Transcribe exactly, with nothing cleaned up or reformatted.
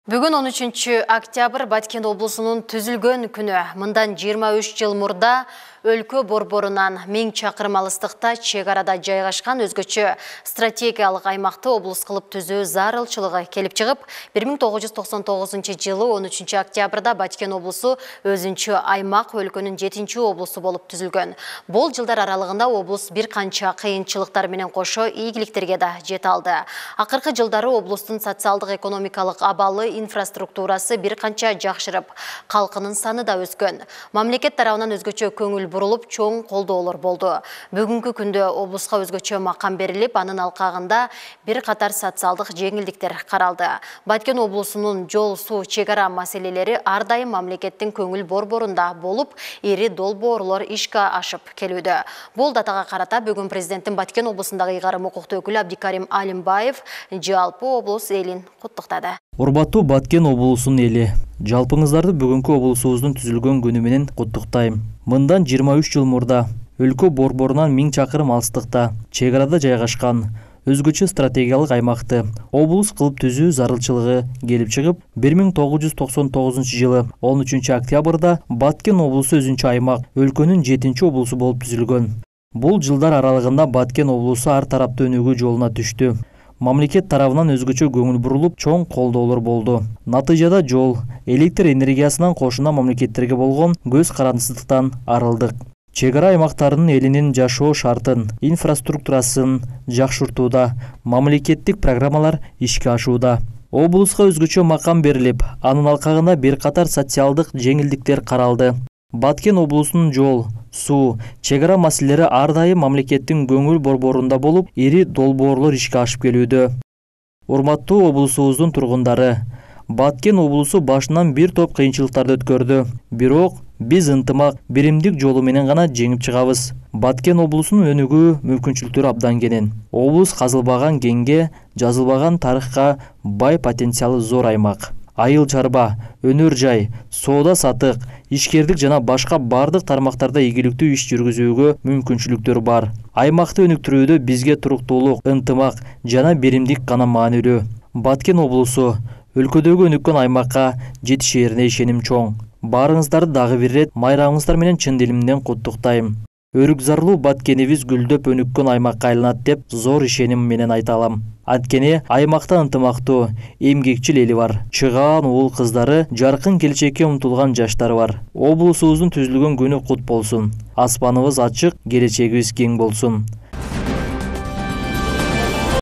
Бүгүн он үчүнчү октябрь Баткен облусунун түзүлгөн күнү. Мындан жыйырма үч жыл мурда өлкө борборунан миң чакырым алыстыкта чек арада жайгашкан өзгөчө стратегиялык аймакты облус кылып түзүү зарылчылыгы келип чыгып, бир миң тогуз жүз токсон тогузунчу жылы он үчүнчү октябрда Баткен облусу өзүнчө аймак өлкөнүн жетинчи облусу болуп түзүлгөн. Бул жылдар аралыгында облус бир канча кыйынчылыктар менен кошо ийгиликтерге да жете алды. Акыркы жылдары облустун социалдык экономикалык абалы, инфраструктурасы бир канча жакшырып, калкынын саны да өскөн. Мамлекет тарабынан өзгөчө көңүл бурулуп, чоң колдоолор болду. Бүгүнкү күндө облуска өзгөчө макам берилип, анын алкагында бир катар социалдык жеңилдиктер каралды. Баткен облусунун жол, суу, чек ара маселелери ар дайым мамлекеттин көңүл борборунда болуп, ири долбоорлор ишке ашып келүүдө. Бул датага карата бүгүн президенттин Баткен облусундагы ыйгарым укуктуу өкүлү Абдикарим Алимбаев жалпы облус элин куттуктады. Урматтуу Баткен облусунун эли, жалпыңыздарды бүгүнкү облусубуздун түзүлгөн күнү менен куттуктайм. Мындан жыйырма үч жыл мурда өлкө борборунан миң чакырым алыстыкта чек арада жайгашкан өзгөчө стратегиялык аймакты облус кылып түзүү зарылчылыгы келип чыгып, бир миң тогуз жүз токсон тогузунчу жылы он үчүнчү октябрда Баткен облусу өзүнчө аймак өлкөнүн жетинчи облусу болуп түзүлгөн. Бул жылдар аралыгында Баткен облусу ар тараптуу өнүгүү жолуна түштү. Мамлекет тарабынан өзгөчө көңүл бурулуп, чоң колдоолор болду. Натыйжада жол, электр энергиясынан кошуна мамлекеттерге болгон көз карандысыздыктан арылдык. Чек ара аймактарынын элинин жашоо шартын, инфраструктурасын жакшыртууда мамлекеттик программалар ишке ашууда. Облуска өзгөчө макам берилип, анын алкагында бир катар социалдык жеңилдиктер каралды. Баткен облусунун жол, суу, чек ара маселелери ар дайым мамлекеттин көңүл борборунда болуп, ири долбоорлор ишке ашып келүүдө. Урматтуу облусубуздун тургундары, Баткен облусу башынан бир топ кыйынчылыктарды өткөрдү. Бирок биз ынтымак, биримдик жолу менен гана жеңип чыгабыз. Баткен облусунун өнүгүү мүмкүнчүлүктөрү абдан кенен. Облус казылбаган кеңге, жазылбаган тарыхка бай потенциалы зор аймак. Айыл чарба, өнөр жай, соода сатык, ишкердик жана башка бардык тармактарда ийгиликтүү иш жүргүзүүгө мүмкүнчүлүктөр бар. Аймакты өнүктүрүүдө бизге туруктуулук, ынтымак жана биримдик гана маанилүү. Баткен облусу өлкөдөгү өнүккөн аймакка жетишээрине ишеним чоң. Баарыңыздарды дагы бир ирет майрамыңыздар менен чын дилимден куттуктайм. Өрүк зарлуу Баткенибиз гүлдөп өнүккөн аймакка айланат деп зор ишеним менен айта алам. Анткени аймакта ынтымактуу, эмгекчил эли бар. Чыгаан уул кыздары, жаркын келечекке умтулган жаштары бар. Облусубуздун түзүлгөн күнү кут болсун. Аспаныбыз ачык, келечегибиз кең болсун.